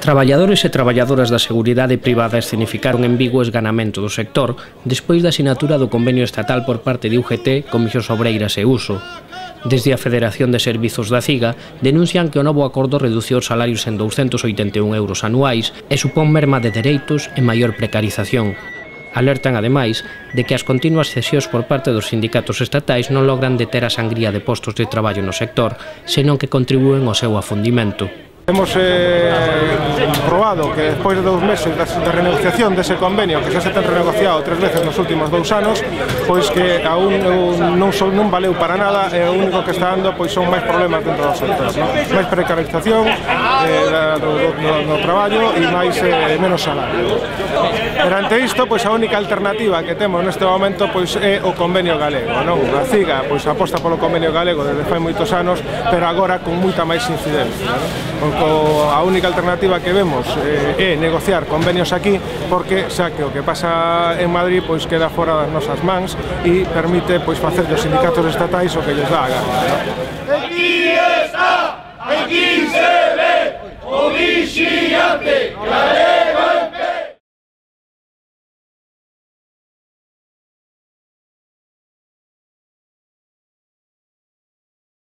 Traballadores e traballadoras da seguridade privada escenificaron en Vigo o esganamento do sector despois da sinatura do convenio estatal por parte de UGT, Comisións Obreiras e Uso. Desde a Federación de Servizos da CIGA denuncian que o novo acordo reduciu os salarios en 281 euros anuais e supón merma de dereitos e maior precarización. Alertan, ademais, de que as continuas cesións por parte dos sindicatos estatais non logran deter a sangría de postos de traballo no sector, senón que contribúen ao seu afundimento. Hemos probado que despois de 2 meses de renegociación dese convenio, que xa se ten renegociado 3 veces nos últimos 2 anos, pois que aún non valeu para nada e o único que está dando pois son máis problemas dentro do sector, máis precarización no traballo e menos salario. Perante isto, pois a única alternativa que temos neste momento pois é o convenio galego, non? A CIGA pois aposta polo convenio galego desde fai moitos anos, pero agora con moita máis incidencia, non? A única alternativa que vemos é negociar convenios aquí, porque xa que o que pasa en Madrid pois queda fora das nosas mans e permite pois facer dos sindicatos estatais o que lles dá a gana. Aquí está, aquí se ve o vixiante galego.